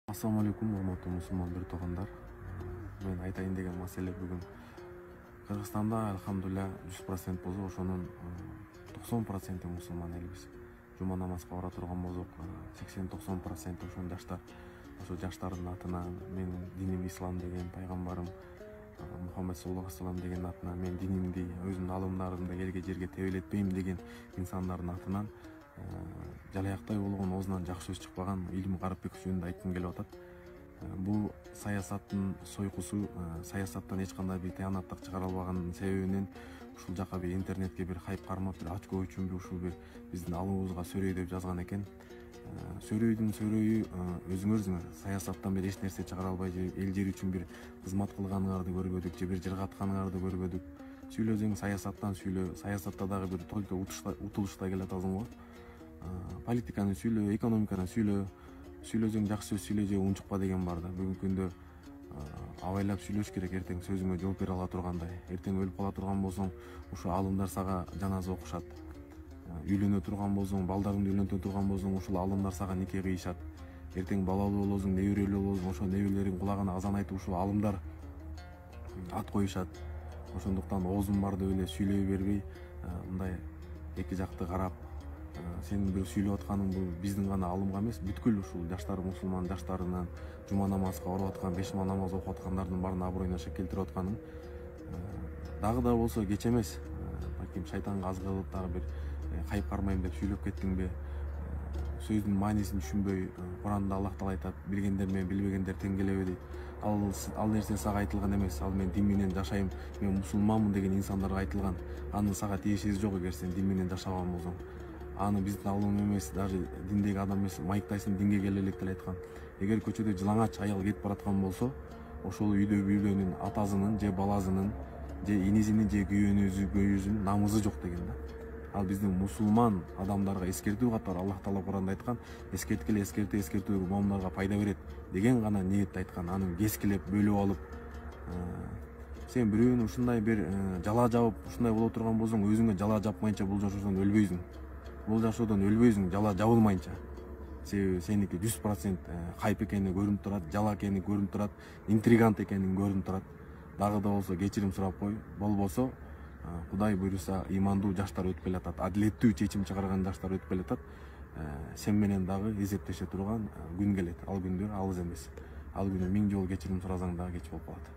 Assalamu alaikum, урматтуу мусулман бир туугандар. Мен айтайын деген маселе бүгүн Кыргызстанда алхамдулилля 100% болсо ошонун 90% мусулман элбиз. Жума намазга бара турган болсок 80-90% ошон жаштар. Ошо жаштардын атынан менин диним ислам деген пайгамбарым Мухаммед саллаллаху алейхи вассалам деген атынан мен динимди, өзүмдүн алымдарымды элге жерге тебелетпейм деген инсандардын атынан жалаяктай болгон оозунан жакшы сөз чыкпаган Илим Карипбеков жөнүндө айткым келип атат. Бул саясаттын сойкусу, саясаттан эч кандай бир тыянаттык чыгара албаганын себебинен ушул жака бир интернетке бир хайп кармап, бир очко үчүнбү ушул бир биздин алымыбызга сөрөй деп жазган экен. Сөрөйдүн сөрөйү өзүңөр саясаттан бир эч нерсе чыгара албай же эл жер үчүн бир кызмат кылганыңарды көрбөдүк, же бир жыргатканыңарды көрбөдүк. Сүйлөсөң саясаттан сүйлө, саясатта дагы бир только утулушта келатасың го. Политиканы сүйлө, экономиканы сүйлө, сүйлөсөң жакшы сөз сүйлө же унчукпа деген бар да. Бүгүнкү күндө абайлап сүйлөш керек, эртең сөзүңө жооп бере ала тургандай. Эртең өлүп кала турган болсоң, ушул алымдар сага жаназа окушат. Үйлөнө турган болсоң, балдарыңды үйлөнтө турган болсоң, ушул алымдар сага нике кыйышат. Эртең балалуу болосуң, неберелүү болосуң, ошо неберелериң кулагына азан айтып ушул алымдар ат коюшат. Ошондуктан оозум бар деп эле сүйлөй бербей, мындай эки жакты карап, сенин бир сүйлөп атканың бул биздин гана алымга эмес, бүткүл ушул жаштар, мусулман жаштарынан жума намазга барып аткан, 5 намаз окуп аткандардын баарынын аброюна шек келтирип атканың дагы да болсо кеч эмес. Балким шайтанга азгы кылып дагы бир хайп кармайм деп сүйлөп кеттиңби? Сөздүн маанисин түшүнбөй, Куранда Аллах Таала айтат, билгендер менен билбегендер тең келеби дейт. Ал нерсе сага айтылган эмес. Ал мен дин менен жашайм, мен мусулманмын деген инсандарга айтылган. Анын сага тиешеси жок эгер сен дин менен жашаган болсоң. Аны биздин алым эмес, даже диндеги адам эмес, Майк Тайсон динге келе элек деле айткан. Эгер көчөдө жылаңач аял кетип бараткан болсо, ошол үйдө бирөөнүн атасынын же баласынын же инисинин же күйөөзүнүн намызы жок деген да. Ал биздин мусулман адамдарга эскертүү катары Аллах Таала Куранда айткан, эскерткиле эскертүү момундарга пайда берет деген гана ниетте айткан. Аны кескилеп бөлүп алып, сен бирөөнү ушундай бир жала жабып, ушундай боло турган болсоң, өзүңө жала жапмайынча бул жашоодон өлбөйсүң. Бул жашоодон өлбөйсүң, жала жабылмайынча. Себеби сеники 100% хайп экени көрүнүп турат, жала экени көрүнүп турат, интригант экени көрүнүп турат. Дагы да болсо кечирим сурап кой. Болбосо Кудай буйруса ыймандуу жаштар өтүп келатат, адилеттүү чечим чыгарган жаштар өтүп келатат. Сен менен дагы эсептеше турган күн келет. Ал күндөр алыс эмес. Ал күнү 1000 жолу кечирим сурасаң дагы кеч болуп калат.